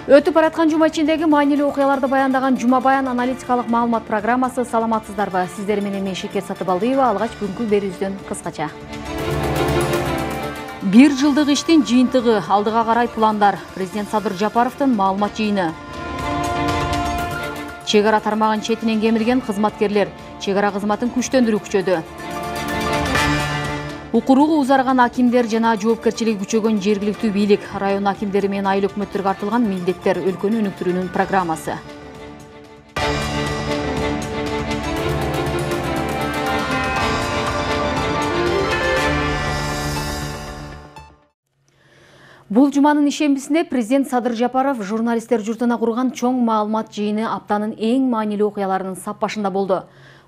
Өтүп бараткан жума ичиндеги маанилүү окуяларды баяндаган Жума баян аналитикалык маалымат программасы. Саламатсыздарбы? Сиздер менен мен Шекер Сатыбалдиева. Алгач бүгүнкү берүүбүздөн кыскача. 1 жылдык иштин жыйынтыгы, алдыга карай пландар. Президент Садыр Жапаровдун маалымат жыйыны. Чек ара тармагын четинен кемирген кызматкерлер. Чек ара кызматын күчтөндүрүү күчөдү. Укуругу узарган акимдер жана жоопкерчилиги күчөгөн жергиликтүү бийлик. Район акимдери менен айыл өкмөттөргө артылган милдеттер өлкөнү өнүктүрүүнүн программасы. Бул жуманын ишембисинде президент Садыр Жапаров журналисттер журтуна курган чоң маалымат жыйыны аптанын эң маанилүү окуяларынын сап башында болду.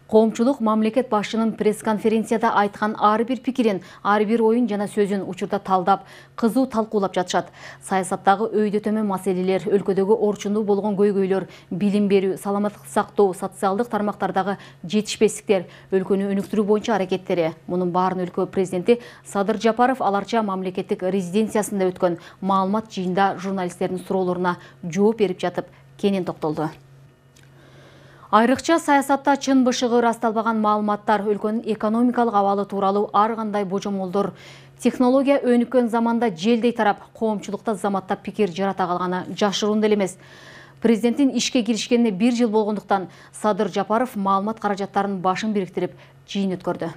Коомчулук мамлекет башчынын пресс-конференцияда айткан ар бир пикирин, ар бир оюн жана сөзүн учурда талдап, кызуу талкуулап жатышат. Саясаттагы өйдө төмөн маселелер, өлкөдөгү орчундуу болгон көйгөйлөр, билим берүү, саламаттыкты сактоо, социалдык тармактардагы жетишпестиктер, өлкөнү өнүктүрүү боюнча аракеттери. Мунун баарын өлкө президенти Садыр Жапаров аларча мамлекеттик резиденциясында өткөн маалымат жыйында журналисттердин суроолоруна жооп берип жатып кенен токтолду. Айрыкча саясатта чын бышыгы ырасталбаган маалыматтар, өлкөнүн экономикалык абалы тууралуу ар кандай божомолдор технология өнүккөн заманда желдей тарап, коомчулукта заматтап пикир жарата калганы жашыруун деле эмес. Президенттин ишке киришкенине 1 жыл болгондуктан Садыр Жапаров маалымат каражаттарынын башын бириктирип жыйын өткөрдү.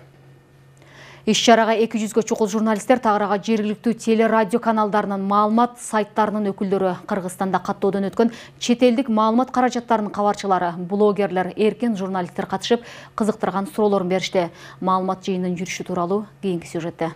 Иш-чарага 200гө чукул журналисттер, тагырага жергиликтүү телерадио каналдарынын, маалымат сайттарынын өкүлдөрү, Кыргызстанда каттоодон өткөн чет элдик маалымат каражаттарынын кабарчылары, блогерлер, эркен журналисттер катышып, кызыктырган суроолорун беришти. Маалымат жыйынынын жүрүшү тууралуу кийинки сюжетте.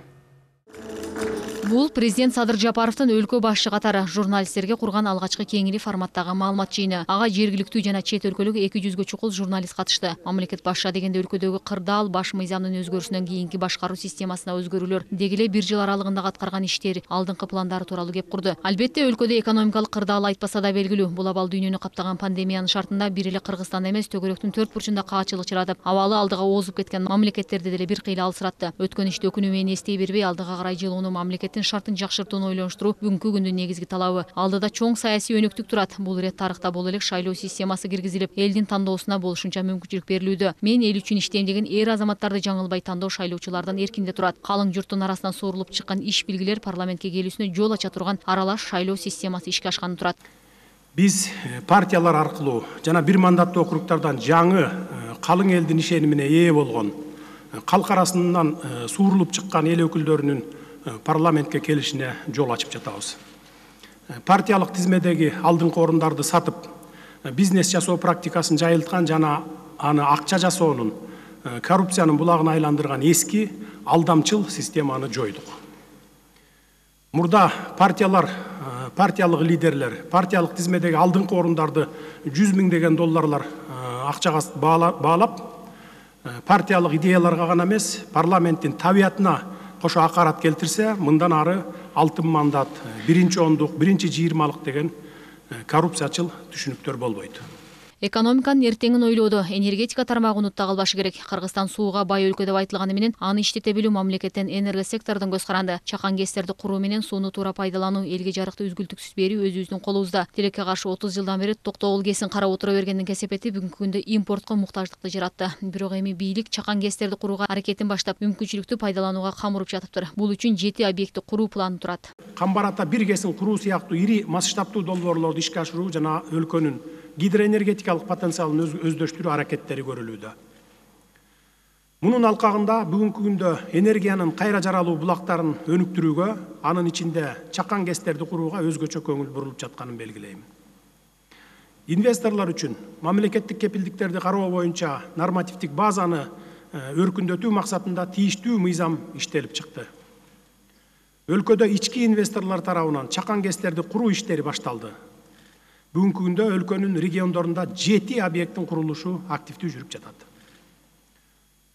Бул президент Садыр Жапаровдун өлкө башчы катары журналисттерге курган алгачкы кеңири форматтагы маалымат жыйыны. Ага жергиликтүү жана чет өлкөлүк 200гө чукул журналист катышты. Мамлекет башчы дегенде өлкөдөгү кырдаал баш мыйзамдын өзгөрүшүнөн кийинки башкаруу системасына өзгөрүүлөр, деги эле 1 жыл аралыгында аткарган иштери, алдыңкы пландары тууралуу кеп курду. Албетте өлкөдө экономикалык кырдаал айтпаса да белгилүү. Бул абал дүйнөнү каптаган пандемиянын шартында бир эле Кыргызстанда эмес, төгөрөктүн төрт бурчунда каачылык чыратып, абалы алдыга озуп кеткен мамлекеттерди деле бир кыйла алсыратты. Өткөн ишти өкүнүү менен эстей бербей, алдыга карай жылууну, мамлекеттин шартын жакшыртууну ойлонуштуруу бүгүнкү күндүн негизги талабы. Алдыда чоң саясий өнүктүк турат. Бул ирет тарыхта боло элек шайлоо системасы киргизилип, элдин тандоосуна болушунча мүмкүнчүлүк берилүүдө. Мен эл үчүн иштейм деген эр азаматтарды жаңылбай тандоо шайлоочулардан эркинде турат. Калың журттун арасынан суурулуп чыккан иш билгилер парламентке келүүсүнө жол ача турган аралаш шайлоо системасы ишке ашканы турат. Биз партиялар аркылуу жана бир мандаттуу округдардан жаңы калың элдин ишенимине ээ болгон, калк арасынан суурулуп чыккан эл өкүлдөрүнүн парламентке келишине жол ачып жатабыз. Партиялык тизмедеги алдыңкы орундарды сатып, бизнес жасоо практикасын жайылткан жана аны акча жасоонун, коррупциянын булагына айландырган эски алдамчыл системаны жойдук. Мурда партиялар, партиялык лидерлер, партиялык тизмедеги алдыңкы орундарды $100 000 акчага баалап, партиялык идеяларга гана эмес, парламенттин табиятына кошо акарат келтирсе, мындан ары алтын мандат, биринчи ондук, биринчи 20-лык деген коррупциячыл түшүнүктөр болбойт. Экономиканын эртеңин ойлоодо энергетика тармагы унутта калбашы керек. Кыргызстан сууга бай өлкө деп айтылганы менен аны иштете билүү мамлекеттен энергосектордон көз каранды. Чакан ГЭСтерди куруу менен сууну туура пайдалануу, элге жарыкты үзгүлтүксүз берүү өзүбүздүн колубузда. Тилекке каршы 30 жылдан бери токтогул ГЭСин карап отура бергендин кесепети бүгүнкү күндө импортко муктаждыкты жаратты. Бирок эми бийлик Чакан ГЭСтерди курууга аракетин баштап, мүмкүнчүлүктү пайдаланууга кам уруп жатыптыр. Бул үчүн 7 объектти куруу планы турат. Камбарата бир ГЭСин куруу сыяктуу ири масштабтуу долбоорлорду ишке ашыруу жана өлкөнүн гидроэнергетикалык потенциалын өздөштүрүү аракеттери көрүлүүдө. Мунун алкагында бүгүнкү күндө энергиянын кайра жаралуу булактарын өнүктүрүүгө, анын ичинде Чакан ГЭСтерди курууга өзгөчө көңүл бурулуп жатканын белгилейм. Инвесторлор үчүн мамлекеттик кепилдиктерди кароо боюнча нормативдик базаны өркүндөтүү максатында тийиштүү мыйзам иштелип чыкты. Өлкөдө ички инвесторлор тарабынан Чакан ГЭСтерди куруу иштери башталды. Бүгүнкү күндө өлкөнүн региондорунда 7 объекттин курулушу активдүү жүрүп жатат.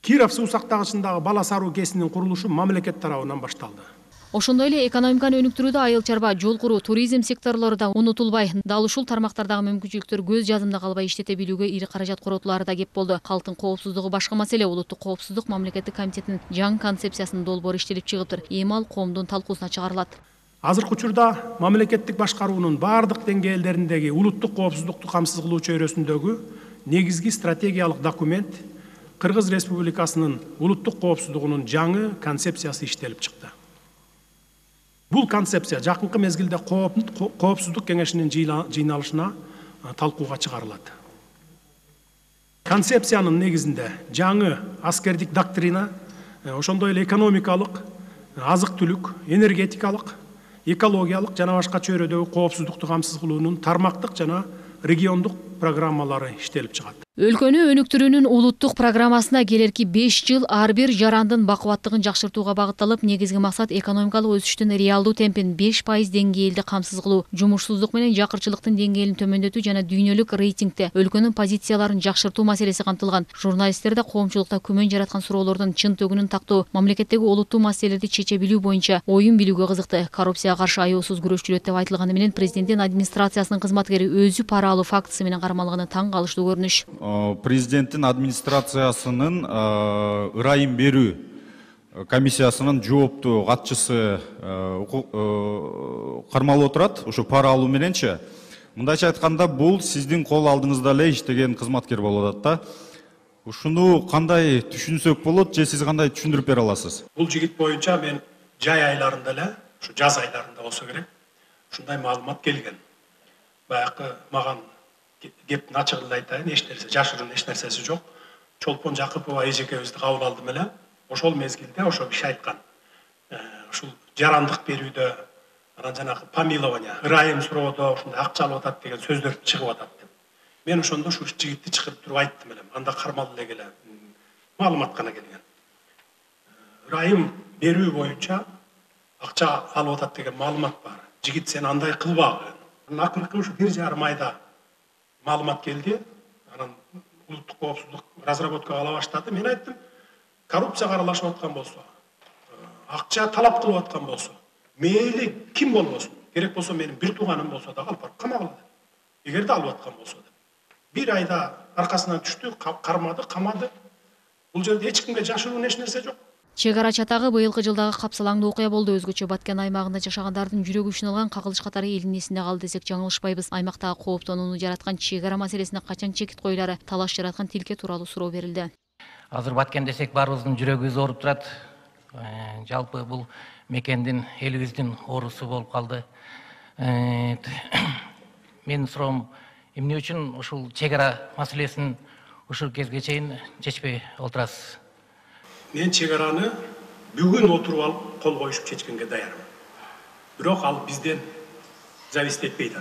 Киров суу сактагычындагы Бала Саруу ГЭСинин курулушу мамлекет тарабынан башталды. Ошондой эле экономиканы өнүктүрүүдө айыл чарба, жол куруу, туризм секторлору да унутулбай, дал ушул тармактардагы мүмкүнчүлүктөр көз жазымда калбай иштете билүүгө ири каражат коротулары да кеп болду. Калктын коопсуздугу башка маселе. Улуттук коопсуздук мамлекеттик комитетинин жаңы концепциясынын долбоору иштелип чыгыптыр. Эми ал коомдун талкуусуна чыгарылат. Азыркы учурда мамлекеттик башкаруунун бардык деңгээлдериндеги улуттук коопсуздукту камсыз кылуу чөйрөсүндөгү негизги стратегиялык документ Кыргыз Республикасынын улуттук коопсуздугунун жаңы концепциясы иштелип чыкты. Бул концепция жакынкы мезгилде коопсуздук кеңешинин жыйналышына талкууга чыгарылат. Концепциянын негизинде жаңы аскердик доктрина, ошондой эле экономикалык, азык-түлүк, энергетикалык, экологиялык жана башка чөйрөдөгү коопсуздукту камсыз кылуунун тармактык жана региондук программалары иштелип чыгат. Өлкөнү өнүктүрүүнүн улуттук программасына келерки 5 жыл ар бир жарандын бакубаттыгын жакшыртууга багытталып, негизги максат экономикалык өсүштүн реалдуу темпин 5% деңгээлде камсыз кылуу, жумушсуздук менен жакырчылыктын деңгээлин төмөндөтүү жана дүйнөлүк рейтингде өлкөнүн позицияларын жакшыртуу маселеси камтылган. Журналисттерде коомчулукта күмөн жараткан суроолордун чын төгүнүн тактоо, мамлекеттеги олуттуу маселелерди чече билүү боюнча оюн билүүгө кызыкты. Коррупцияга каршы аяосуз күрөшчүлөт деп айтылганы менен президенттин администрациясынын кызматкери өзү пара алуу фактысы менен кармалганы таң калыштуу көрүнүш. Президенттин администрациясынын ырайым берүү комиссиясынын жооптуу катчысы кармалып отурат. Ошо пара алуу мененчи. Мындайча айтканда, бул сиздин кол алдыңызда эле иштеген кызматкер болуп атат да. Ушуну кандай түшүнсөк болот, же сиз кандай түшүндүрүп бере аласыз? Бул жигит боюнча мен жай айларында эле, ушу жаз айларында болсо керек, ушундай маалымат келген. Баягы маган кептин ачыгын айтайын, эч нерсе жашырын эч нерсеси жок. Чолпон Жакыпова эжекебизди кабыл алдым эле. Ошол мезгилде ошо бир айткан. Ушул жарандык берүүдө, анан жанагы помилование, ырайым суроодо ушундай акча алып атат деген сөздөр чыгып атат деп. Мен ошондо ушу жигитти чыгарып туруп айттым эле. Анда кармалып эле келе маалымат гана келген. Ырайым берүү боюнча акча алып атат деген маалымат бар. Жигит сен андай кылбагы. Акыркы ушу 1,5 айда маалымат келди. Анан улуттук коопсуздук разработка кыла баштады. Мен айттым, коррупцияга аралашып аткан болсо, акча талап кылып аткан болсо, мейли ким болбосун, керек болсо менин бир тууганым болсо да алып барып камагыла деп. Эгерде алып аткан болсо деп. 1 айда аркасынан түштү, кармады, камады. Бул жерде эч кимге жашыруун эч нерсе жок. Чек ара чатагы быйылкы жылдагы капсалаңдуу окуя болду. Өзгөчө Баткен аймагында жашагандардын жүрөгү үчүн кагылыш катары элдин эсинде калды десек жаңылышпайбыз. Аймактагы кооптонууну жараткан чек ара маселесине качан чекит коюлары, талаш жараткан тилке тууралуу суроо берилди. Азыр Баткен десек баарыбыздын жүрөгүбүз ооруп турат. Жалпы бул мекендин элибиздин оорусу болуп калды. Менин суроом, эмне үчүн ушул чек ара маселесин ушул кезге чейин чечпей отурасыз? Мен чек араны бүгүн отуруп алып кол коюшуп чечкенге даярмын. Бирок ал бизден зависит этпейт.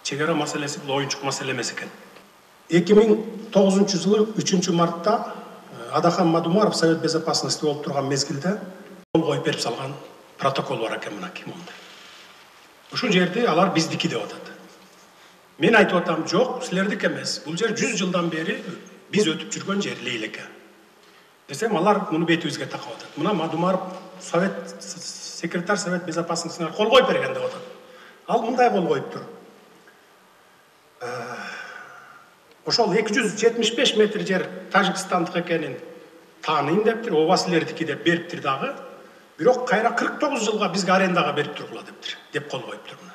Чек ара маселеси бул оюнчук маселе эмес экен. 2009 жылы 3 мартта Адахан Мадумаров Совет Безопасности болуп турган мезгилде кол коюп берип салган протокол бар экен мынакей мондай. Ушул жерде алар биздики деп атат. Мен айтып атам, жок, силердики эмес. Бул жер 100 жылдан бери биз өтүп жүргөн жер Лейлеке. Десем, алар муну бетибизге такап атат. Мына Мадумаров секретарь Совет Безопасностьна кол коюп берген деп атат. Ал мындай кол коюптур. Ошол 275 метр жер Тажикстандык экенин тааныйм дептир, ооба силердики деп бериптир дагы. Бирок кайра 49 жылга бизге арендага берип тургула дептир, деп кол коюптур мына.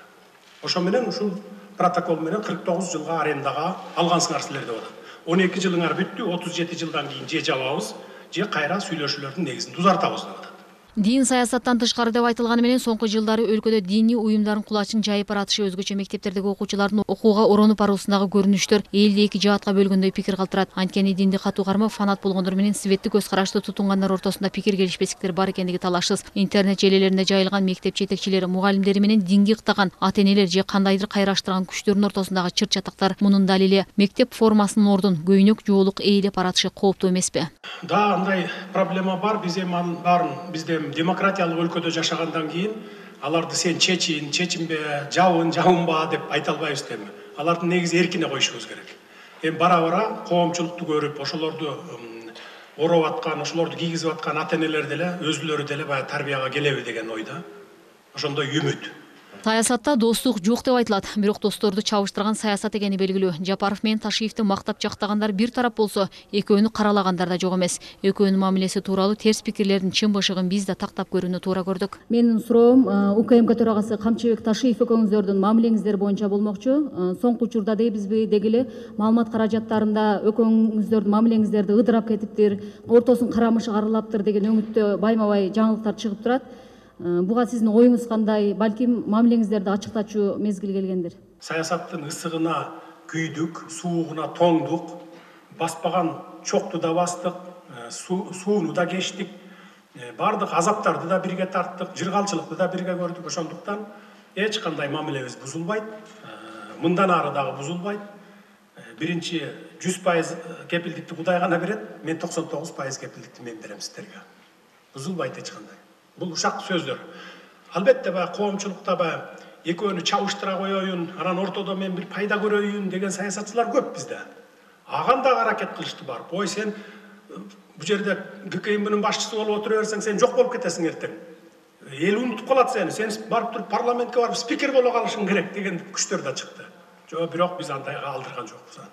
Ошо менен ушул протокол менен 49 жылга арендага алгансыңар силер деп атат. 12 жылыңар бүттү, 37 жылдан кийин же жабабыз, же кайра сүйлөшүүлөрдүн негизинде узартабыз деп атат. Дин саясаттан тышкары деп айтылганы менен соңку жылдары өлкөдө диний уюмдардын кулачын жайып баратышы, өзгөчө мектептердеги окуучулардын окууга оронуп баруусундагы көрүнүштөр элди эки жаатка бөлгөндөй пикир калтырат. Анткени динди катуу кармап, фанат болгондор менен светтик көз карашты тутунгандар ортосунда пикир келишпестиктер бар экендиги талашсыз. Интернет желелеринде жайылган мектеп жетекчилери, мугалимдери менен динги ыктаган ата-энелер же кандайдыр кайраштырган күчтөрдүн ортосундагы чыр чатактар мунун далили. Мектеп формасынын ордун көйнөк жоолук ээлеп баратышы кооптуу эмеспи? Да, андай проблема бар. Биз эми анын баарын бизде демократиялык өлкөдө жашагандан кийин аларды сен чечинбе, жабынба деп айта албайбыз эми. Алардын негизи эркине коюшубуз керек. Эми бара-бара коомчулукту көрүп, ошолорду ороп аткан, ошолорду кийгизип аткан ата-энелер деле өзүлөрү деле баягы тарбияга келеби деген ойда. Ошондой үмүт. Саясатта достук жок деп айтылат, бирок досторду чабыштырган саясат экени белгилүү. Жапаров менен Ташиевди мактап жактагандар бир тарап болсо, экөөнү каралагандар да жок эмес. Экөөнүн мамилеси тууралуу терс пикирлердин чын бышыгын биз да тактап көрүүнү туура көрдүк. Менин суроом УКМК төрагасы Камчыбек Ташиев экөөңүздөрдүн мамилеңиздер боюнча болмокчу. Соңку учурда дейбизби, деги эле маалымат каражаттарында экөөңүздөрдүн мамилеңиздерди ыдырап кетиптир, ортосун карамышы карылаптыр деген өңүттө байма-бай жаңылыктар чыгып турат. Буга сиздин оюңуз кандай? Балким мамилеңиздерди ачыктачуу мезгил келгендир. Саясаттын ысыгына күйдүк, суугуна тоңдук, баспаган чокту да бастык, сууну да кечтик, бардык азаптарды да бирге тарттык, жыргалчылыкты да бирге көрдүк. Ошондуктан эч кандай мамилебиз бузулбайт, мындан ары дагы бузулбайт. Биринчи 100% кепилдикти Кудай гана берет, мен 99% кепилдикти мен берем сиздерге. Бузулбайт эч кандай. Бул ушак сөздөр. Албетте коомчулукта экөөнү чабыштыра коеюн, анан ортодо мен бир пайда көрөйүн деген саясатчылар көп бизде. Аганда аракет кылышты бар. Ой, сен бу жерде ГКМБнын башчысы болуп отура берсең, сен жок болуп кетесиң эртең. Эл унутуп калат сени. Сен барып туруп парламентке барып спикер боло калышың керек деген күчтөр да чыкты. Жок, бирок биз андайга алдырган жокпуз.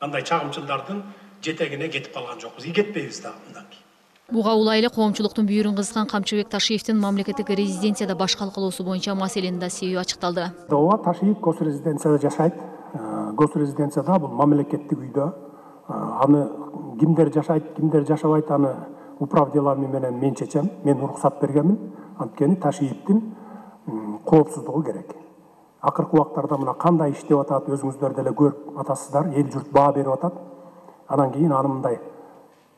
Андай чагымчылдардын жетегине кетип калган жокпуз. Кетпейбиз дагы мындан кийин. Буга улай эле коомчулуктун бүйүрүн кызган Камчыбек Ташиевдин мамлекеттик резиденцияда баш калкалоосу боюнча маселенин да себеби ачыкталды. Ооба, Ташиев госрезиденцияда жашайт. Госрезиденцияда бул мамлекеттик үйдө. Аны кимдер жашайт, кимдер жашабайт, аны управ делами менен мен чечем. Мен уруксат бергенмин. Анткени Ташиевдин коопсуздугу керек. Акыркы убактарда мына кандай иштеп атат, өзүңүздөр деле көрүп атасыздар, эл журт баа берип атат. Анан кийин аны мындай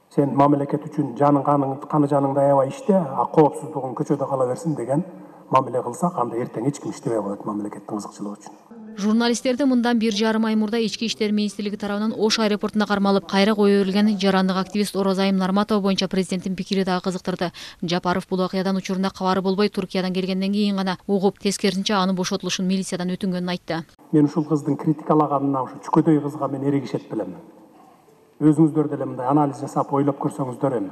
сен мамлекет үчүн жаның каны жаныңды аябай иште, коопсуздугуң көчөдө кала берсин деген мамиле кылсак, анда эртең эч ким иштебей коет мамлекеттин ызыкчылыгы үчүн. Журналисттерди мындан 1,5 ай мурда Ички иштер министрлиги тарабынан Ош аэропортуна кармалып, кайра кое берилген жарандык активист Орозайым Нарматова боюнча президенттин пикири дагы кызыктырды. Жапаров бул окуядан учурунда кабары болбой Туркиядан келгенден кийин гана угуп, тескерисинче аны бошотулушун милициядан өтүнгөнүн айтты. Мен ушул кыздын критикалаганына ушу чүкөдөй кызга мен эрегишет билем. Өзүңүздөр деле мындай анализ жасап ойлоп көрсөңүздөр эми.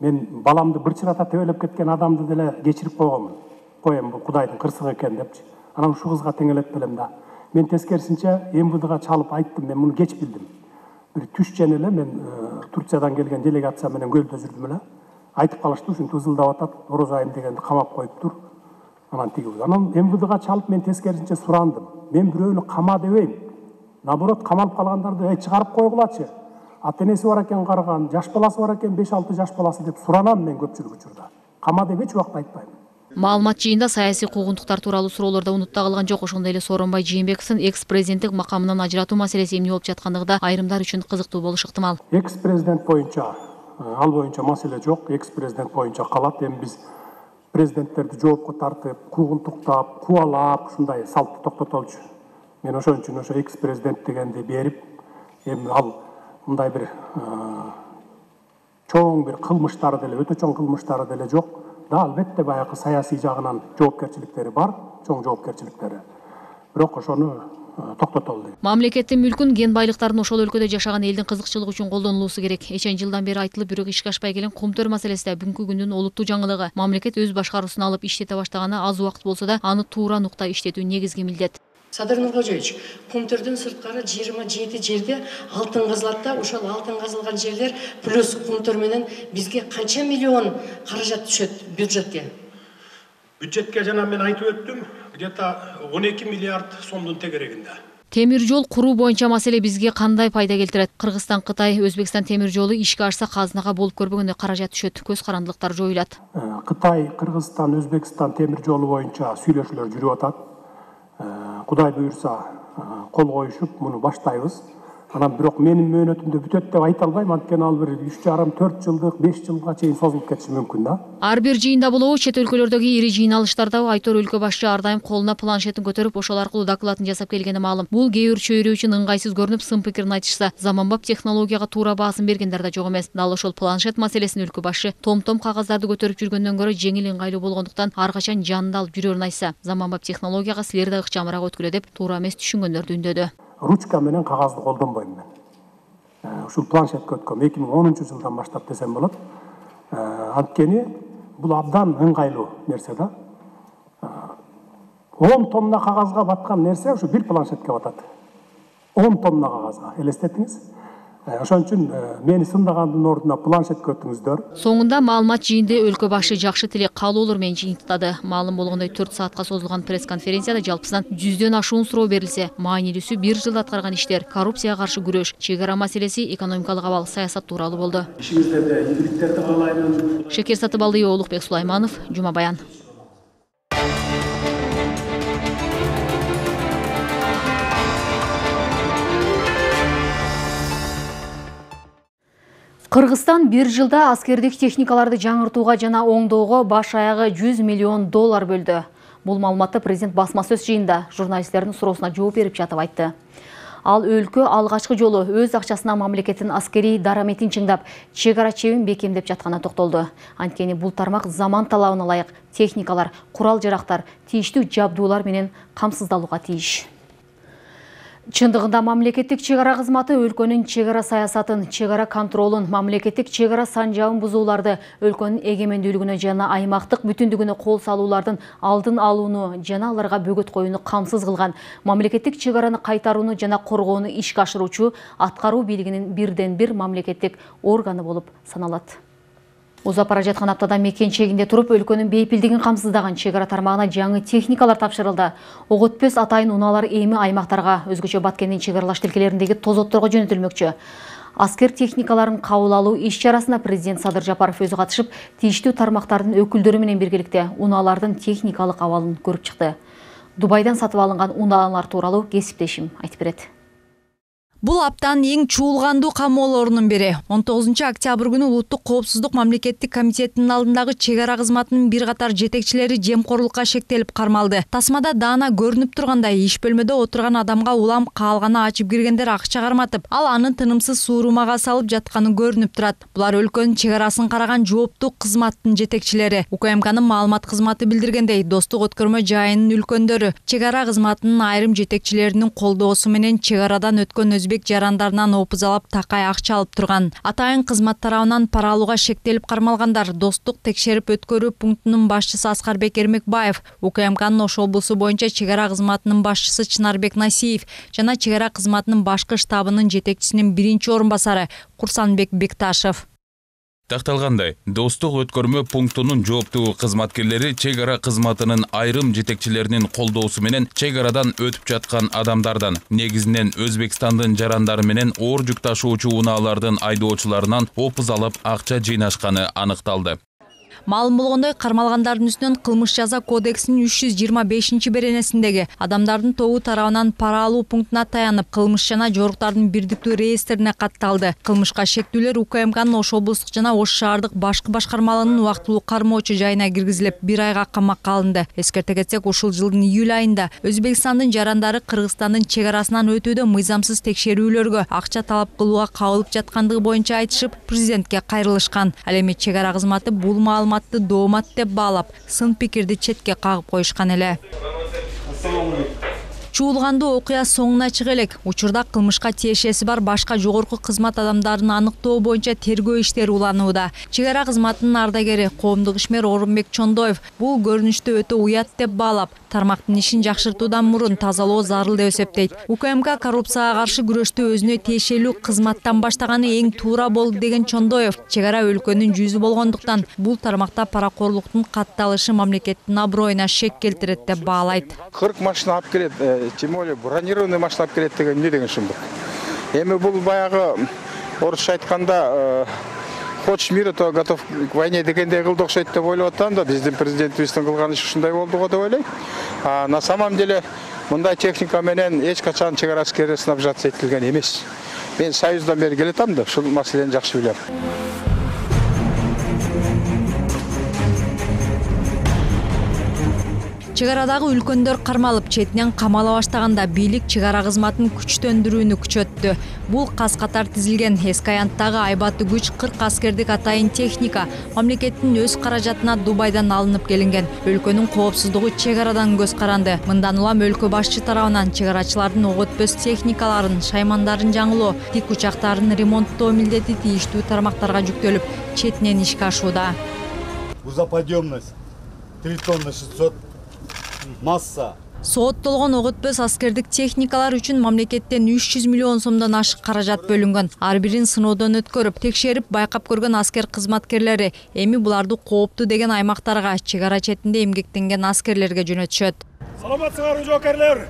Мен баламды бырчырата тебелеп кеткен адамды деле кечирип койгонмун. Коем бул Кудайдын кырсыгы экен депчи. Анан ушул кызга теңелеп билем да. Мен тескерисинче МВДга чалып айттым, мен муну кеч билдим. Бир түш жөн эле мен Турциядан келген делегация менен көлдө жүрдүм эле. Айтып калышты, ушинтип ызылдап атат, Орозайым дегенди камап коюптур. Анан тиги. Анан МВДга чалып мен тескерисинче сурандым. Мен бирөөнү кама дебейм. Наоборот, камалып калгандарды чыгарып койгулачы. Ата-энеси бар экен карыган, жаш баласы бар экен 5-6 жаш баласы деп суранам мен көпчүлүк учурда. Кама деп эч убакта айтпайм. Маалымат жыйында саясий куугунтуктар тууралуу суроолордо унутта калган жок. Ошондой эле Сооронбай Жээнбековдун экс-президенттик макамынан ажыратуу маселеси эмне болуп жаткандыгы да айрымдар үчүн кызыктуу болушу ыктымал. Экс-президент боюнча, ал боюнча маселе жок. Экс-президент боюнча калат. Эми биз президенттерди жоопко тартып, куугунтуктап, кубалап ушундай салтты токтотолчу. Мен ошон үчүн ошо экс-президент дегенди берип, эми ал мындай бир чоң бир кылмыштары деле, өтө чоң кылмыштары деле жок. Да, албетте баягы саясий жагынан жоопкерчиликтери бар, чоң жоопкерчиликтери. Бирок ошону токтотолду. Мамлекеттин мүлкүн, кен байлыктарын ошол өлкөдө жашаган элдин кызыкчылыгы үчүн колдонулуусу керек. Эчен жылдан бери айтылып, бирок ишке ашпай келген Кумтөр маселеси да бүгүнкү күндүн олуттуу жаңылыгы. Мамлекет өз башкаруусуна алып иштете баштаганы аз убакыт болсо да, аны туура нукта иштетүү негизги милдет. Садыр Нуркожоевич, Кумтөрдүн сырткары 27 жерде алтын казылат да, ошол алтын казылган жерлер плюс Кумтөр менен бизге канча миллион каражат түшөт бюджетке? Бюджетке жана мен айтып өттүм, где-то 12 миллиард сомдун тегерегинде. Темир жол куруу боюнча маселе бизге кандай пайда келтирет? Кыргызстан, Кытай, Өзбекстан темир жолу ишке ашса казынага болуп көрбөгөндөй каражат түшөт, көз карандылыктар жоюлат. Кытай, Кыргызстан, Өзбекстан темир жолу боюнча сүйлөшүүлөр жүрүп атат. Кудай буюрса кол коюшуп муну баштайбыз. Анан бирок менин мөөнөтүмдө бүтөт деп айта албайм, анткени ал бир 3,5-4 жылдык, 5 жылга чейин созулуп кетиши мүмкүн да. Ар бир жыйында болобу, чет өлкөлөрдөгү ири жыйналыштарда Айтор өлкө башчы ар дайым колуна планшетин көтөрүп, ошол аркылуу докладын жасап келгени маалым. Бул кээ бир чөйрө үчүн ыңгайсыз көрүнүп, сын пикирин айтышса, заманбап технологияга туура баасын бергендер да жок эмес. Дал ошол планшет маселесин өлкө башчы том-том кагаздарды көтөрүп жүргөндөн көрө жеңил ыңгайлуу болгондуктан ар качан жанында алып жүрөрүн айтса, заманбап технологияга силер да ыкчамыраак өткүлө деп туура эмес түшүнгөндөрдү үндөдү. Ручка менен кагазды колдонбойм мен. Ушул планшетке өткөм 2010-жылдан баштап десем болот. Анткени бул абдан ыңгайлуу нерсе да. 10 тонна кагазга баткан нерсе ушу бир планшетке батат. 10 тонна кагазга. Элестетиңиз. Ошон үчүн мени сындагандын ордуна планшетке өтүңүздөр. Соңунда маалымат жыйынды өлкө башы жакшы тилек каалоолор менен жыйынтыктады. Маалым болгондой 4 саатка созулган пресс-конференцияда жалпысынан 100дөн ашуун суроо берилсе, маанилүүсү 1 жылда аткарган иштер, коррупцияга каршы күрөш, чек ара маселеси, экономикалык абал, саясат тууралуу болду. Ишиңиздерде ийгиликтерди каалайм. Шекер Сатыбалдиева, Улукбек Сулайманов, Жума Баян. Кыргызстан 1 жылда аскердик техникаларды жаңыртууга жана оңдоого баш аягы $100 миллион бөлдү. Бул маалыматты президент басма сөз жыйында журналисттердин суроосуна жооп берип жатып айтты. Ал өлкө алгачкы жолу өз акчасына мамлекеттин аскерий дараметин чыңдап, чек ара чебин бекемдеп жатканына токтолду. Анткени бул тармак заман талабына ылайык техникалар, курал-жарактар, тийиштүү жабдуулар менен камсыздалууга тийиш. Чындыгында мамлекеттик чек ара кызматы өлкөнүн чек ара саясатын, чек ара контролун, мамлекеттик чек ара санжабын бузууларды, өлкөнүн эгемендүүлүгүнө жана аймактык бүтүндүгүнө кол салуулардын алдын алууну жана аларга бөгөт коюуну камсыз кылган, мамлекеттик чек араны кайтарууну жана коргоону ишке ашыруучу аткаруу бийлигинин бирден бир мамлекеттик органы болуп саналат. Узап бара жаткан аптада мекен чегинде туруп, өлкөнүн бейпилдигин камсыздаган чек ара тармагына жаңы техникалар тапшырылды. Ок өтпөс атайын унаалар эми аймактарга, өзгөчө Баткендин чек аралаш тилкелериндеги тозотторго жөнөтүлмөкчү. Аскер техникаларын кабыл алуу иш-чарасына президент Садыр Жапаров өзү катышып, тийиштүү тармактардын өкүлдөрү менен биргеликте унаалардын техникалык абалын көрүп чыкты. Дубайдан сатып алынган унаалар тууралуу кесиптешим айтып берет. Бул аптанын эң чуулгандуу камоолорунун бири. 19 октябрь күнү Улуттук коопсуздук мамлекеттик комитетинин алдындагы чек ара кызматынын бир катар жетекчилери жемкорлукка шектелип кармалды. Тасмада даана көрүнүп тургандай иш бөлмөдө отурган адамга улам каалганы ачып киргендер акча карматып, ал анын тынымсыз суурумага салып жатканы көрүнүп турат. Булар өлкөнүн чек арасын караган жооптуу кызматтын жетекчилери. УКМКнын маалымат кызматы билдиргендей, Достук өткөрмө жайынын үлкөндөрү чек ара кызматынын айрым жетекчилеринин колдоосу менен чек арадан өткөн өзбек жарандарынан опузалап такай акча алып турган. Атайын кызмат тарабынан пара алууга шектелип кармалгандар Достук текшерип өткөрүү пунктунун башчысы Аскарбек Эрмекбаев, УКМКнын Ош облусу боюнча чек ара кызматынын башчысы Чынарбек Насиев жана чек ара кызматынын башкы штабынын жетекчисинин биринчи орун басары Курсанбек Бекташев. Такталгандай, Достук өткөрмө пунктунун жооптуу кызматкерлери чек ара кызматынын айрым жетекчилеринин колдоосу менен чек арадан өтүп жаткан адамдардан, негизинен Өзбекстандын жарандары менен оор жүк ташуучу унаалардын айдоочуларынан опуз алып акча жыйнашканы аныкталды. Маалым болгондой, кармалгандардын үстүнөн кылмыш жаза кодексинин 325-беренесиндеги адамдардын тобу тарабынан пара алуу пунктуна таянып, кылмыш жана жоруктардын бирдиктүү реестрине катталды. Кылмышка шектүүлөр УКМКнын Ош облустук жана Ош шаардык башкы башкармалыгынын убактылуу кармоочу жайына киргизилип, 1 айга камакка алынды. Эскерте кетсек, ушул жылдын июль айында Өзбекстандын жарандары Кыргызстандын чек арасынан өтүүдө мыйзамсыз текшерүүлөргө акча талап кылууга кабылып жаткандыгы боюнча айтышып, президентке кайрылышкан. Ал эми чек ара кызматы бул маалыматты доомат деп баалап, сын пикирди четке кагып коюшкан эле. Чуулгандуу окуя соңуна чыга элек. Учурда кылмышка тиешеси бар башка жогорку кызмат адамдарын аныктоо боюнча тергөө иштери уланууда. Чек ара кызматынын ардагери коомдук ишмер Орунбек Чондоев бул көрүнүштү өтө уят деп баалап, тармактын ишин жакшыртуудан мурун тазалоо зарыл деп эсептейт. УКМК коррупцияга каршы күрөштү өзүнө тиешелүү кызматтан баштаганы эң туура болду деген Чондоев, чек ара өлкөнүн жүзү болгондуктан бул тармакта паракорлуктун катталышы мамлекеттин аброюна шек келтирет деп баалайт. 40 машина алып келет, тем более бронированный машина алып келет деген эмне деген шумдук. Эми бул баягы орусча айтканда хочешь мира, то готов к войне дегендей кылды окшойт деп ойлоп атам да, биздин президентибиздин кылган иши ушундай болду го деп ойлойм. На самом деле мындай техника менен эч качан чек ара аскери снабжаться этилген эмес. Мен Союздан бери келатам да, ушул маселени жакшы билем. Чек арадагы үлкөндөр кармалып, четинен камала баштаганда бийлик чек ара кызматын күчтөндүрүүнү күчөттү. Бул каз катар тизилген эски аянттагы айбаттуу күч 40 аскердик атайын техника мамлекеттин өз каражатына Дубайдан алынып келинген. Өлкөнүн коопсуздугу чек арадан көз каранды. Мындан улам өлкө башчы тарабынан чек арачылардын ок өтпөс техникаларын, шаймандарын жаңылоо, тик учактарын ремонттоо милдети тийиштүү тармактарга жүктөлүп, четинен ишке ашууда. Грузоподъемность 3 тонны 600, масса Сооттолгон ок өтпөс аскердик техникалар үчүн мамлекеттен 300 миллион сомдон ашык каражат бөлүнгөн. Ар бирин сыноодон өткөрүп, текшерип, байкап көргөн аскер кызматкерлери эми буларды кооптуу деген аймактарга, чек ара четинде эмгектенген аскерлерге жөнөтүшөт. Саламатсыңарбы жоокерлер?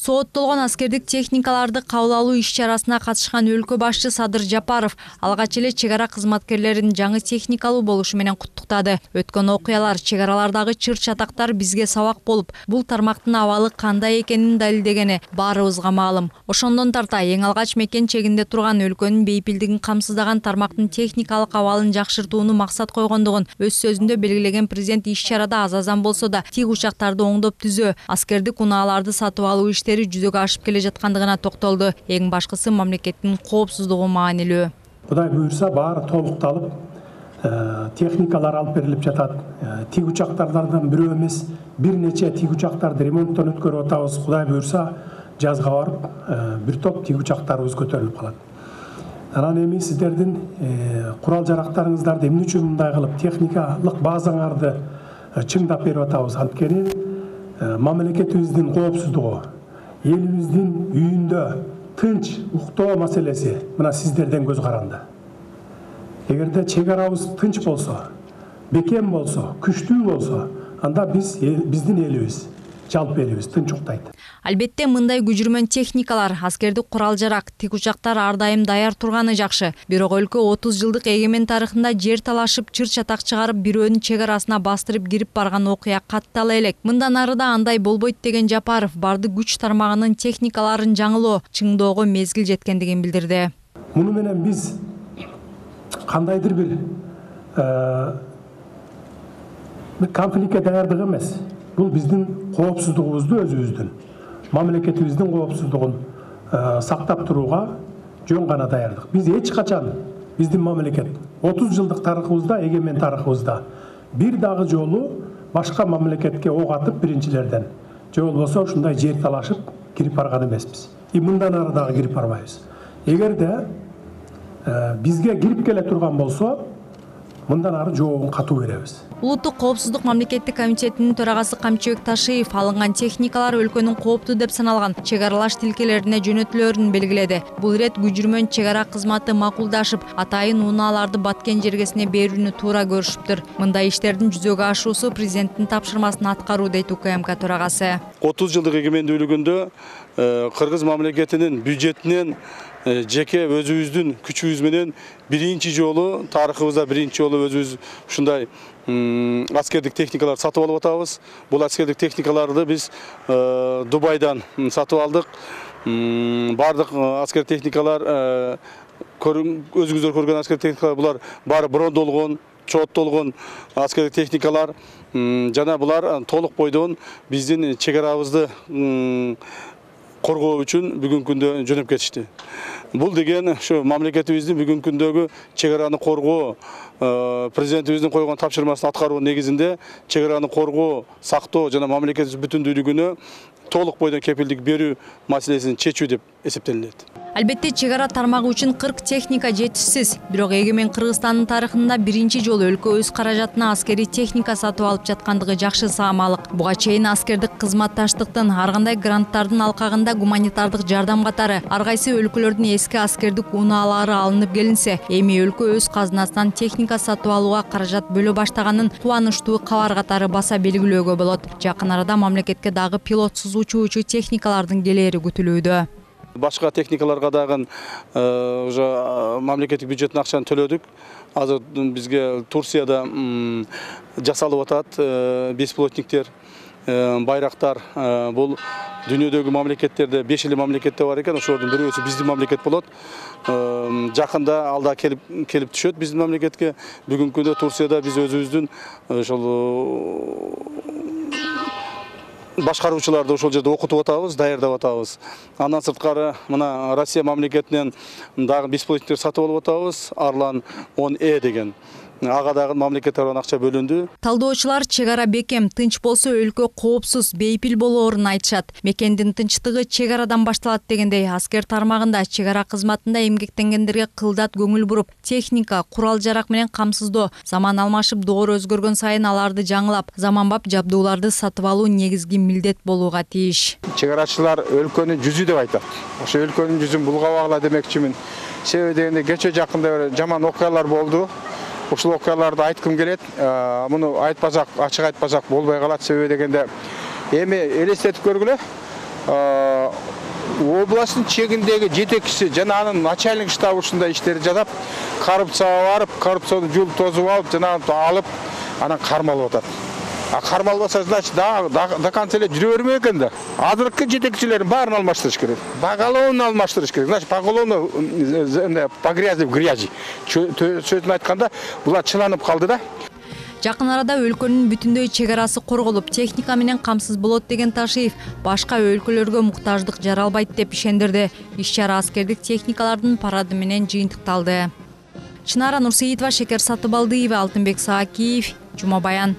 Сооттолгон аскердик техникаларды кабыл алуу иш-чарасына катышкан өлкө башчы Садыр Жапаров алгач эле чек ара кызматкерлерин жаңы техникалуу болушу менен куттуктады. Өткөн окуялар, чек аралардагы чыр-чатактар бизге сабак болуп, бул тармактын абалы кандай экенин далилдегени баарыбызга маалым. Ошондон тарта эң алгач мекен чегинде турган өлкөнүн бейпилдигин камсыздаган тармактын техникалык абалын жакшыртууну максат койгондугун өз сөзүндө белгилеген президент иш-чарада аз-азан болсо да тик учактарды оңдоп түзөө, аскердик унааларды сатып алуу иштери жүзөгө ашып келе жаткандыгына токтолду. Эң башкысы мамлекеттин коопсуздугу маанилүү. Кудай буйрса баары толукталып, техникалар алып берилип жатат. Тик учактардан бирөө эмес, бир нече тик учактарды ремонттон өткөрүп атабыз. Кудай буйрса жазга барып, бир топ тик учактарыбыз көтөрүлүп калат. Анан эми сиздердин курал жарактарыңыздарды эмне үчүн мындай кылып техникалык базаңарды чыңдап берип атабыз? Анткени мамлекетибиздин коопсуздугу, элибиздин үйүндө тынч уктоо маселеси мына сиздерден көз каранды. Эгерде чек арабыз тынч болсо, бекем болсо, күчтүү болсо, анда биздин элибиз, жалпы элибиз тынч уктайт. Албетте мындай күжүрмөн техникалар, аскердик курал жарак, тик учактар ар дайым даяр турганы жакшы. Бирок өлкө 30 жылдык эгемен тарыхында жер талашып, чыр-чатак чыгарып, бирөөнүн чек арасына бастырып кирип барган окуя каттала элек. Мындан арыда андай болбойт деген Жапаров бардык күч тармагынын техникаларын жаңылоо, чыңдоого мезгил жеткендигин билдирди. Муну менен биз кандайдыр бир конфликтке даярдык эмес. Бул биздин коопсуздугубузду өзүбүздүн, мамлекетибиздин коопсуздугун сактап турууга жөн гана даярдык. Биз эч качан биздин мамлекет 30 жылдык тарыхыбызда, эгемен тарыхыбызда бир дагы жолу башка мамлекетке ок атып биринчилерден же болбосо ушундай жер талашып кирип барган эмеспиз. Мындан ары дагы кирип барбайбыз. Эгерде бизге кирип келе турган болсо, мындан ары жообун катуу беребиз. Улуттук коопсуздук мамлекеттик комитетинин төрагасы Камчыбек Ташиев алынган техникалар өлкөнүн кооптуу деп саналган чек аралаш тилкелерине жөнөтүлөрүн белгиледи. Бул ирет күжүрмөн чек ара кызматы макулдашып, атайын унааларды баткен жергесине берүүнү туура көрүшүптүр. Мындай иштердин жүзөгө ашуусу президенттин тапшырмасын аткаруу дейт УКМК төрагасы. 30 жылдык эгемендүүлүгүндө Кыргыз мамлекетинин бюджетинен жеке өзүбүздүн күчүбүз менен биринчи жолу тарыхыбызда өзүбүз ушундай аскердик техникалар сатып алып атабыз. Бул аскердик техникаларды биз Дубайдан сатып алдык. Бардык аскер техникалар өзүңүздөр көргөн аскер техникалар булар баары брондолгон, чооттолгон аскердик техникалар. Жана булар толук бойдон биздин чек арабызды коргоо үчүн бүгүнкү күндө жөнөп кетишти. Бул деген ушу мамлекетибиздин бүгүнкү күндөгү чек араны коргоо, президентибиздин койгон тапшырмасын аткаруу негизинде чек араны коргоо, сактоо жана мамлекетибиздин бүтүндүүлүгүнө толук бойдон кепилдик берүү маселесин чечүү деп эсептелинет. Албетте чек ара тармагы үчүн 40 техника жетишсиз. Бирок эгемен Кыргызстандын тарыхында биринчи жолу өлкө өз каражатына аскери техника сатып алып жаткандыгы жакшы саамалык. Буга чейин аскердик кызматташтыктын ар кандай гранттардын алкагында гуманитардык жардам катары ар кайсы өлкөлөрдүн эски аскердик унаалары алынып келинсе, эми өлкө өз казынасынан техника сатып алууга каражат бөлө баштаганын кубанычтуу кабар катары баса белгилөөгө болот. Жакын арада мамлекетке дагы пилотсуз учуучу техникалардын келери күтүлүүдө. Башка техникаларга дагы уже мамлекеттик бюджеттин акчаны төлөдүк. Азыр бизге Турцияда жасалып атат бесплотниктер, байрактар. Бул дүйнөдөгү мамлекеттерде 5 эле мамлекетте бар экен. Ошолордун бирөөсү биздин мамлекет болот. Жакында алда келип түшөт биздин мамлекетке. Бүгүнкү күндө Турцияда биз өзүбүздүн ошол башкаруучуларды ошол жерде окутуп атабыз, даярдап атабыз. Андан сырткары мына Россия мамлекетинен дагы бесплотниктер сатып алып атабыз. Арлан 10E деген. ага дагы мамлекет тарабынан акча бөлүндү. Талдоочулар чек ара бекем, тынч болсо өлкө коопсуз, бейпил болоорун айтышат. Мекендин тынчтыгы чек арадан башталат дегендей, аскер тармагында чек ара кызматында эмгектенгендерге кылдат көңүл буруп, техника, курал-жарак менен камсыздоо, заман алмашып, доор өзгөргөн сайын аларды жаңылап, заманбап жабдууларды сатып алуу негизги милдет болууга тийиш. Чек арачылар өлкөнүн жүзү деп айтат. Ошо өлкөнүн жүзүн булгабагыла демекчимин. Себеби дегенде кече жакында жаман окуялар болду. Ушул окуяларды айткым келет. Муну айтпасак, ачык айтпасак болбой калат. Себеби дегенде эми элестетип көргүлө. Областтын чегиндеги жетекчиси жана анын начальник штабы ушундай иштерди жасап, коррупцияга барып, коррупцияны жулуп тозуп алып, жана алып, анан кармалып атат. Кармалбаса, значит, до конца эле жүрө бермек экен да. Азыркы жетекчилердин баарын алмаштырыш керек. Поголовно алмаштырыш керек. Значит, поголовно по грязи в грязи. Сөзүн айтканда, булар чыланып калды да. Жакын арада өлкөнүн бүтүндөй чек арасы корголуп, техника менен камсыз болот деген Ташиев башка өлкөлөргө муктаждык жаралбайт деп ишендирди. Иш-чара аскердик техникалардын парады менен жыйынтыкталды. Чынара Нурсейитова, Шекер Сатыбалдиева, Алтынбек Саакиев, Жума Баян.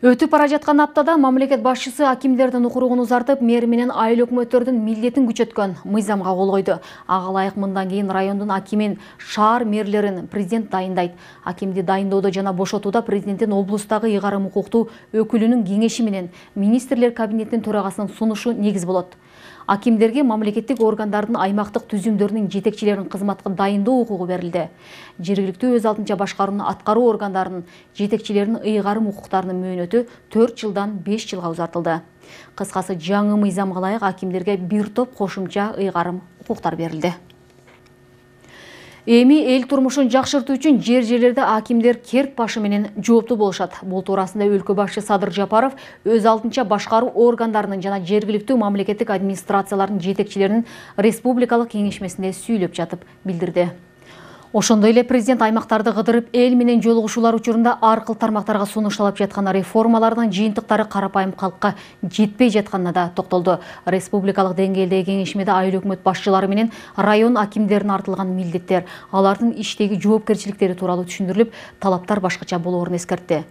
Өтүп бара жаткан аптада мамлекет башчысы акимдердин укуругун узартып, мэр менен айыл өкмөттөрдүн милдетин күчөткөн мыйзамга кол койду. Ага ылайык мындан кийин райондун акимин, шаар мэрлерин президент дайындайт. Акимди дайындоодо жана бошотууда президенттин облустагы ыйгарым укуктуу өкүлүнүн кеңеши менен министрлер кабинетинин төрагасынын сунушу негиз болот. Акимдерге мамлекеттик органдардын аймактык түзүмдөрүнүн жетекчилерин кызматка дайындоо укугу берилди. Жергиликтүү өз алдынча башкаруунун аткаруу органдарынын жетекчилеринин ыйгарым укуктарынын мөөнөтү 4 жылдан 5 жылга узартылды. Кыскасы, жаңы мыйзамга ылайык акимдерге бир топ кошумча ыйгарым укуктар берилди. Эми эл турмушун жакшыртуу үчүн жерлерде акимдер керт башы менен жооптуу болушат. Бул туурасында өлкө башчы Садыр Жапаров өз алдынча башкаруу органдарынын жана жергиликтүү мамлекеттик администрациялардын жетекчилеринин республикалык кеңешмесинде сүйлөп жатып билдирди. Ошондой эле президент аймактарды кыдырып, эл менен жолугушуулар учурунда аркыл тармактарга сунушталып жаткан реформалардын жыйынтыктары карапайым калкка жетпей жатканына да токтолду. Республикалык деңгээлдеги кеңешмеде айыл өкмөт башчылары менен район акимдерине артылган милдеттер, алардын иштеги жоопкерчиликтери тууралуу түшүндүрүлүп, талаптар башкача болоорун эскертти.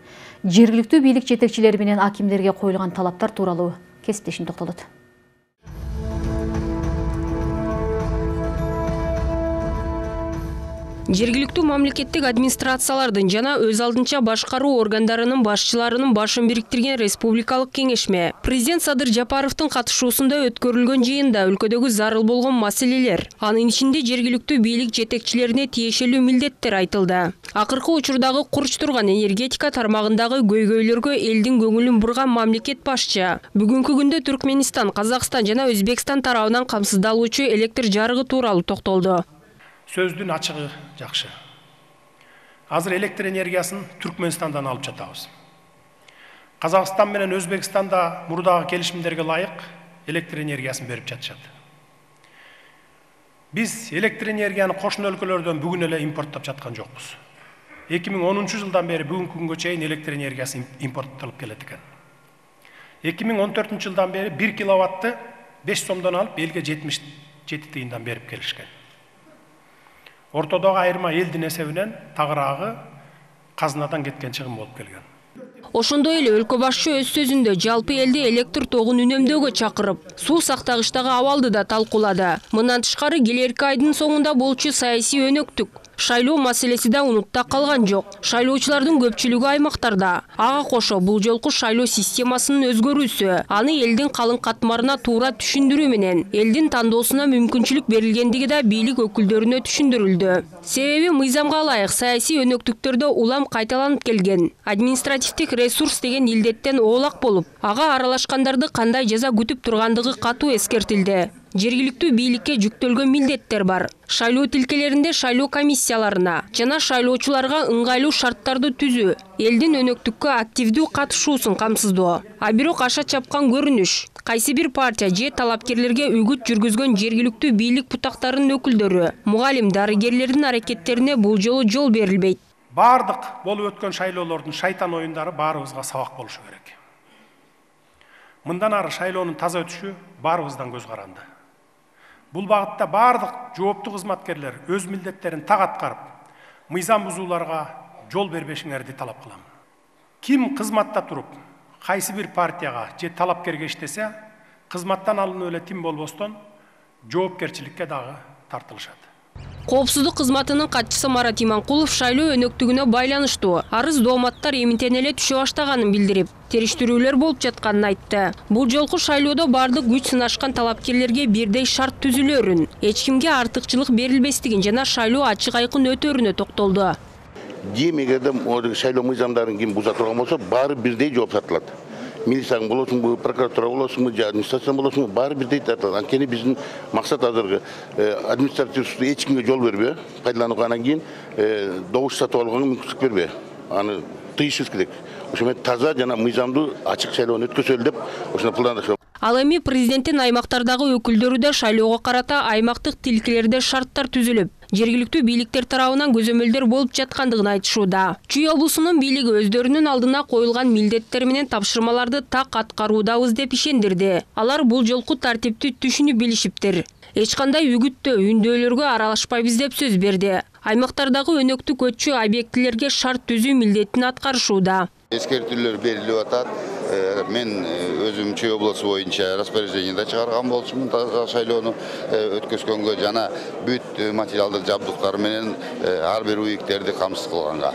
Жергиликтүү бийлик жетекчилери менен акимдерге коюлган талаптар тууралуу кесиптешим токтолот. Жергиликтүү мамлекеттик администрациялардын жана өз алдынча башкаруу органдарынын башчыларынын башын бириктирген республикалык кеңешме президент Садыр Жапаровдун катышуусунда өткөрүлгөн жыйында өлкөдөгү зарыл болгон маселелер, анын ичинде жергиликтүү бийлик жетекчилерине тиешелүү милдеттер айтылды. Акыркы учурдагы курч турган энергетика тармагындагы көйгөйлөргө элдин көңүлүн бурган мамлекет башчы бүгүнкү күндө Түркменистан, Казакстан жана Өзбекстан тарабынан камсыздалуучу электр жарыгы тууралуу токтолду. Сөздүн ачыгы жакшы. Азыр электр энергиясын Түркменистандан алып жатабыз. Казакстан менен Өзбекстанда мурдагы келишимдерге ылайык электр энергиясын берип жатышат. Биз электр энергияны кошуна өлкөлөрдөн бүгүн эле импорттоп жаткан жокпуз. 2010 жылдан бери бүгүнкү күнгө чейин электр энергиясы импорттолуп келет экен. 2014 жылдан бери 1 киловатты 5 сомдон алып элге 77 тыйындан берип келишкен. Ортодогу айырма элдин эсебинен тагыраагы казынадан кеткен чыгым болуп келген. Ошондой эле өлкө башчы өз сөзүндө жалпы элди электр тогун үнөмдөөгө чакырып, суу сактагычтагы абалды да талкуулады. Мындан тышкары келерки айдын соңунда болчу саясий өнөктүк, шайлоо маселеси да унутта калган жок. Шайлоочулардын көпчүлүгү аймактарда. Ага кошо бул жолку шайлоо системасынын өзгөрүүсү, аны элдин калың катмарына туура түшүндүрүү менен элдин тандоосуна мүмкүнчүлүк берилгендиги да бийлик өкүлдөрүнө түшүндүрүлдү. Себеби мыйзамга ылайык саясий өнөктүктөрдө улам кайталанып келген. Административдик ресурс деген илдеттен оолак болуп, ага аралашкандарды кандай жаза күтүп тургандыгы катуу эскертилди. Жергиликтүү бийликке жүктөлгөн милдеттер бар. Шайлоо тилкелеринде шайлоо комиссияларына жана шайлоочуларга ыңгайлуу шарттарды түзүү, элдин өнөктүккө активдүү катышуусун камсыздоо. А бирок аша чапкан көрүнүш, кайсы бир партия же талапкерлерге үгүт жүргүзгөн жергиликтүү бийлик бутактарынын өкүлдөрү, мугалим, дарыгерлердин аракеттерине бул жолу жол берилбейт. Бардык болуп өткөн шайлоолордун шайтан оюндары баарыбызга сабак болушу керек. Мындан ары шайлоонун таза өтүшү баарыбыздан көз каранды. Бул багытта бардык жооптуу кызматкерлер өз милдеттерин так аткарып, мыйзам бузууларга жол бербешиңерди талап кылам. Ким кызматта туруп, кайсы бир партияга же талапкерге иштесе, кызматтан алынып эле тим болбостон жоопкерчиликке дагы тартылышат. Коопсуздук кызматынын катчысы Марат Иманкулов шайлоо өнөктүгүнө байланыштуу арыз дооматтар эмитен эле түшө баштаганын билдирип, териштирүүлөр болуп жатканын айтты. Бул жолку шайлоодо бардык күч сынашкан талапкерлерге бирдей шарт түзүлөрүн, эч кимге артыкчылык берилбестигин жана шайлоо ачык айкын өтөрүнө токтолду. Демегерде шайлоо мыйзамдарын ким буза турган болсо, баары бирдей жооп тартылат. Милицияң болосуңбу, прокуратура болосуңбу, же администрация болосуңбу, баары бирдей тартылат. Анткени биздин максат азыркы административдүү эч кимге жол бербей, пайдаланууга, анан кийин добуш сатып алганга мүмкүнчүлүк бербей. Аны тыйышыбыз керек. Ошо таза жана мыйзамдуу ачык шайлоону өткөзөлү деп ошону пландашабыз. Ал эми президенттин аймактардагы өкүлдөрү да шайлоого карата аймактык тилкелерде шарттар түзүлүп, жергиликтүү бийликтер тарабынан көзөмөлдөр болуп жаткандыгын айтышууда. Чүй облусунун бийлиги өздөрүнүн алдына коюлган милдеттер менен тапшырмаларды так аткаруудабыз деп ишендирди. Алар бул жолку тартипти түшүнүп билишиптир. Эч кандай үгүттөө, үндөөлөргө аралашпайбыз деп сөз берди. Аймактардагы өнөктүк өтчү объектилерге шарт түзүү милдетин аткарышууда. Эскертүүлөр берилип атат. Мен өзүм Чүй облусу боюнча распоряжение да чыгарган болчумун шайлоону өткөзгөнгө жана бүт материалдык жабдыктар менен ар бир уюктерди камсыз кылганга.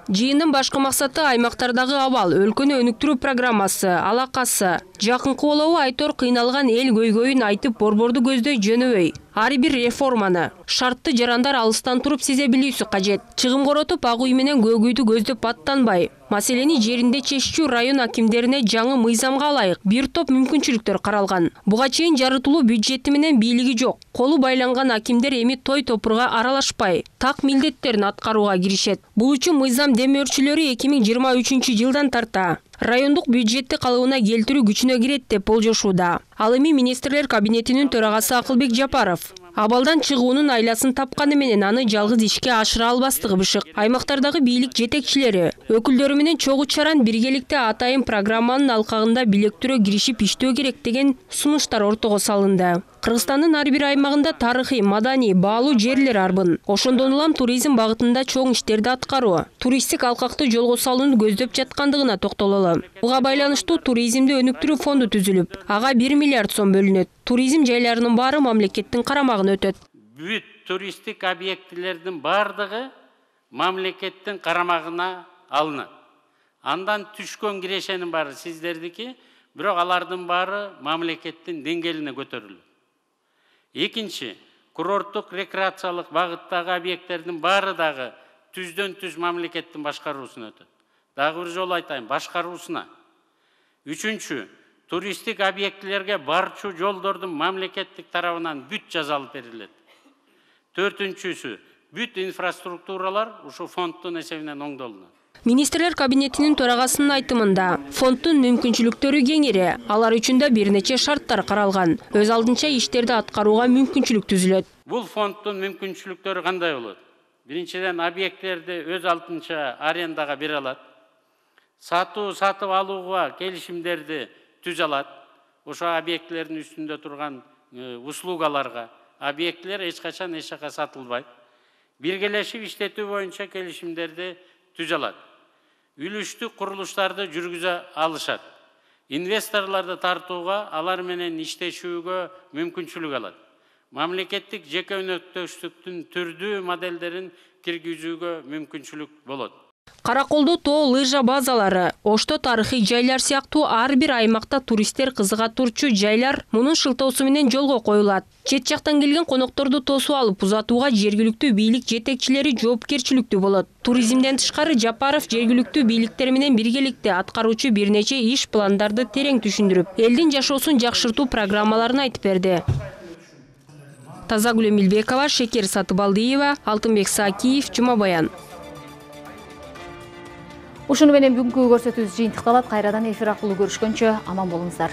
Жыйындын башкы максаты аймактардагы абал, өлкөнү өнүктүрүү программасы, алакасы. Жакынкы болобу Айтор кыйналган эл көйгөйүн айтып борборду көздөй жөнөбөй. Ар бир реформаны, шартты жарандар алыстан туруп сезе билүүсү кажет. Чыгым коротуп, ак үй менен көк үйдү көздөп аттанбай. Маселени жеринде чечүүчү район акимдерине жаңы мыйзамга ылайык бир топ мүмкүнчүлүктөр каралган. Буга чейин жарытылуу бюджети менен бийлиги жок. Колу байланган акимдер эми той топурга аралашпай, так милдеттерин аткарууга киришет. Бул үчүн мыйзам демөөрчүлөрү 2023 жылдан тарта райондук бюджетти калыбына келтирүү күчүнө кирет деп болжошууда. Ал эми министрлер кабинетинин төрагасы Акылбек Жапаров абалдан чыгуунун айласын тапканы менен аны жалгыз ишке ашыра албастыгы бышык. Аймактардагы бийлик жетекчилери өкүлдөрү менен чогуу чаран биргеликте атайын программанын алкагында билектирөө киришип иштөө керек деген сунуштар ортого салынды. Кыргызстандын ар бир аймагында тарыхый, маданий, баалуу жерлер арбын. Ошондон улам туризм багытында чоң иштерди аткаруу, туристтик алкакты жолго салууну көздөп жаткандыгына токтололу. Буга байланыштуу туризмди өнүктүрүү фонду түзүлүп, ага 1 миллиард сом бөлүнөт. Туризм жайларынын баары мамлекеттин карамагына өтөт. Бүт туристтик объектилердин бардыгы мамлекеттин карамагына алынат. Андан түшкөн кирешенин баары сиздердики, бирок алардын баары мамлекеттин деңгээлине көтөрүлөт. Экинчи, курорттук рекреациялык багыттагы объекттердин баары дагы түздөн түз мамлекеттин башкаруусуна өтөт. Дагы бир жолу айтайын, башкаруусуна. Үчүнчү, туристтик объектилерге барчу жолдордун мамлекеттик тарабынан бүт жазалып берилет. Төртүнчүсү, бүт инфраструктуралар ушу фонддун эсебинен оңдолунат. Министрлер кабинетинин төрагасынын айтымында, фонддун мүмкүнчүлүктөрү кеңири, алар үчүн да бир нече шарттар каралган. Өз алдынча иштерди аткарууга мүмкүнчүлүк түзүлөт. Бул фонддун мүмкүнчүлүктөрү кандай болот? Биринчиден, объекттерди өз алдынча арендага бере алат. Сатып алууга келишимдерди түзө алат. Ошо объектлердин үстүндө турган услугаларга объектлер эч качан эч жака сатылбайт. Биргелешип иштетүү боюнча келишимдерди түзө алат. Үлүштүк курулуштарды жүргүзө алышат. Инвесторлорду тартууга, алар менен иштешүүгө мүмкүнчүлүк алат. Мамлекеттик жеке өнөктөштүктүн түрдүү моделдерин киргизүүгө мүмкүнчүлүк болот. Караколдо тоо лыжа базалары, Ошто тарыхый жайлар сыяктуу ар бир аймакта туристтер кызыга турчу жайлар мунун шылтоосу менен жолго коюлат. Чет жактан келген конокторду тосуп алып узатууга жергиликтүү бийлик жетекчилери жоопкерчиликтүү болот. Туризмден тышкары Жапаров жергиликтүү бийликтер менен биргеликте аткаруучу бир нече иш пландарды терең түшүндүрүп, элдин жашоосун жакшыртуу программаларын айтып берди. Тазагүл Эмилбекова, Шекер Сатыбалдиева, Алтынбек Сакиев, Жума Баян. Ушуну менен бүгүнкү көрсөтүүбүз жыйынтыкталат. Кайрадан эфир аркылуу көрүшкөнчө аман болуңуздар.